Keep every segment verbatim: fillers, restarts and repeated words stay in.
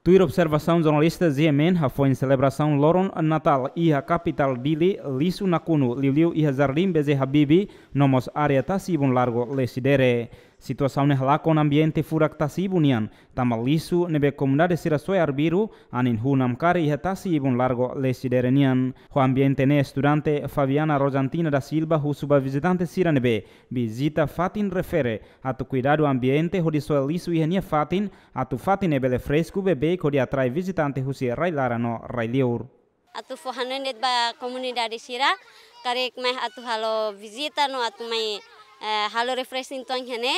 Tuir observasaun jornalista G M N, hafoin selebrasaun loron Natál iha kapitál Dili, lixu nakonu liuliu iha Jardín B J Habibie, no mós área tasi-ibun Largo Lecidere. Situasaun ne'e halakon ambiente furak tasi-ibun nian, tanba lixu ne'ebé komunidade sira soe arbiru, anin hun namkari iha tasi-ibun Largo Lecidere nian. Ho ambiente ne'e estudante Fabiana Rosantina da Silva husu ba vizitante sira ne'ebé vizita fatin refere atu kuidadu ambiente hodi soe lixu iha nia fatin, atu fatin ne'e bele fresku beibeik hodi atrai vizitante husi rai-laran no rai-liur. Atu fó hanoin de'it ba komunidade sira, karik mai atu halo vizita no atu mai, eh, halo refreshing tuan hene,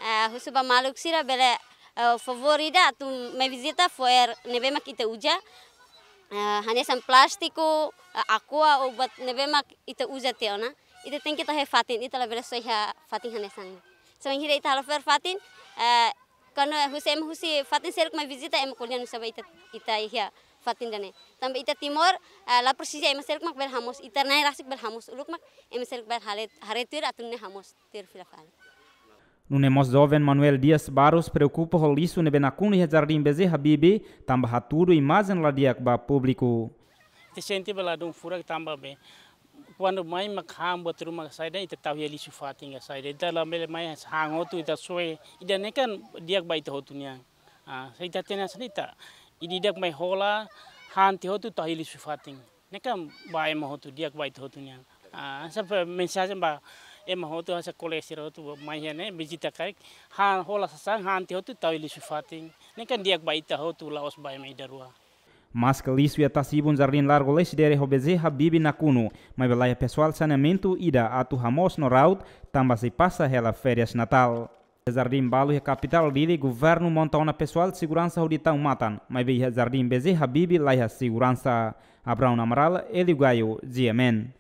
eh, husu ba maluk sira bele, eh, favór ida atu mai vizita fo'er ne'ebé mak ita uza, eh, hanesan plástiku, eh, aqua ou buat ne'ebé mak ita uza tiha ona. Ita tenke tau iha fatin, ita labele soe iha fatin hanesan. So, bainhira ita halo fo'er fatin, eh, kuandu husi ema husi fatin seluk mai vizita, ema ko'alia nu'usá ba ita, ita iha fatin ida-ne'e. Tanba ita Timor, eh, la presiza ema seluk mak bele hamoos, ita na'in rasik bele hamoos uluk mak, ema seluk bele haree, haree tuir atu nune'e hamoos tuir fila fali. Nune'e mós joven Manuel Dias Barros preokupa ho lixu ne'ebé nakonu iha Jardín B J Habibie, tanba hatudu imajen la di'ak ba públiku. Ita sente bele ladún furak tanba be, kuandu mai mak han buat ruma ka saida, ita tau iha lixu fatin ka saida. Ita labele mai han hotu ita soe. Ida-ne'e kan di'ak ba ita hotu nian. Ah, se ita hatene hanesan ne'e ita, ida-idak mai hola, han tiha hotu tau iha lixu fatin. Ne'e kan ba ema hotu, di'ak ba ita hotu nian. Ah, hanesan mensajen ba ema hotu, hanesan kolega sira hotu mai iha ne'e, vizita karik, han hola sasán, han tiha hotu tau iha lixu fatin. Ne'e kan di'ak ba ita hotu, la'ós ba ema ida rua. Maske lixu iha tasi-ibun Jardín Largo Lecidere ho B J Habibie nakonu, maibé laiha pesoál saneamentu ida atu hamoos no raut, tanba sei pasa hela férias Natál. Jardín balu iha kapitál Dili, governu monta ona pesoál seguransa hodi tau matan, maibé iha Jardín B J Habibie laiha seguransa. Abraão Amaral, Hélio Gaio, G M N.